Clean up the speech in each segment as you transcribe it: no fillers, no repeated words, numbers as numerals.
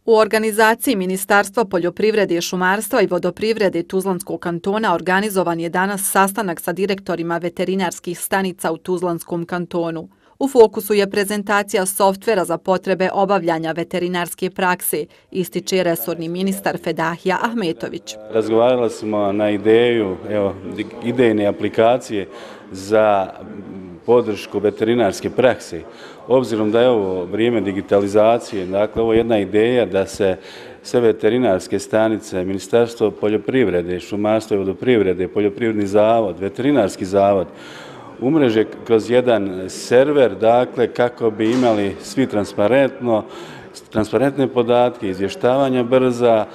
U organizaciji Ministarstva poljoprivrede, šumarstva i vodoprivrede Tuzlanskog kantona organizovan je danas sastanak sa direktorima veterinarskih stanica u Tuzlanskom kantonu. U fokusu je prezentacija softvera za potrebe obavljanja veterinarske prakse, ističe resorni ministar Fedahija Ahmetović. Razgovarali smo na ideju idejne aplikacije za podršku veterinarske prakse. Obzirom da je ovo vrijeme digitalizacije, dakle ovo je jedna ideja da se sve veterinarske stanice, Ministarstvo poljoprivrede, šumarstva i vodoprivrede, poljoprivredni zavod, veterinarski zavod, umreže kroz jedan server, dakle kako bi imali svi transparentne podatke, izvještavanja brza,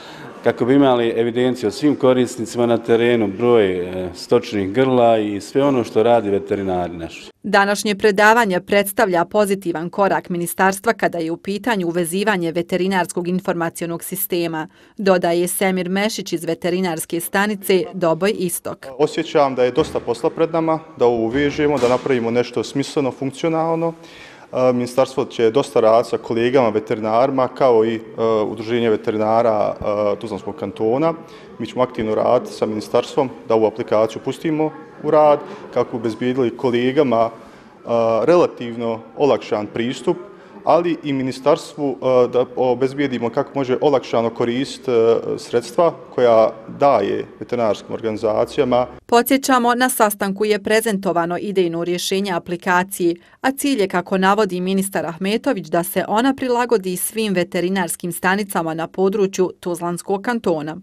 kako bi imali evidenciju o svim korisnicima na terenu, broj stočnih grla i sve ono što radi veterinari naši. Današnje predavanje predstavlja pozitivan korak ministarstva kada je u pitanju uvezivanje veterinarskog informacionog sistema, dodaje Semir Mešić iz veterinarske stanice Doboj Istok. Osjećam da je dosta posla pred nama, da ovo uvežemo, da napravimo nešto smisleno, funkcionalno. Ministarstvo će dosta raditi sa kolegama veterinarima kao i Udruženje veterinara Tuzlanskog kantona. Mi ćemo aktivno raditi sa ministarstvom da ovu aplikaciju pustimo u rad kako bi obezbijedili kolegama relativno olakšan pristup, ali i ministarstvu da obezbijedimo kako može olakšano koristiti sredstva koja daje veterinarskim organizacijama. Podsjećamo, na sastanku je prezentovano idejno rješenje aplikacije, a cilj je, kako navodi ministar Ahmetović, da se ona prilagodi svim veterinarskim stanicama na području Tuzlanskog kantona.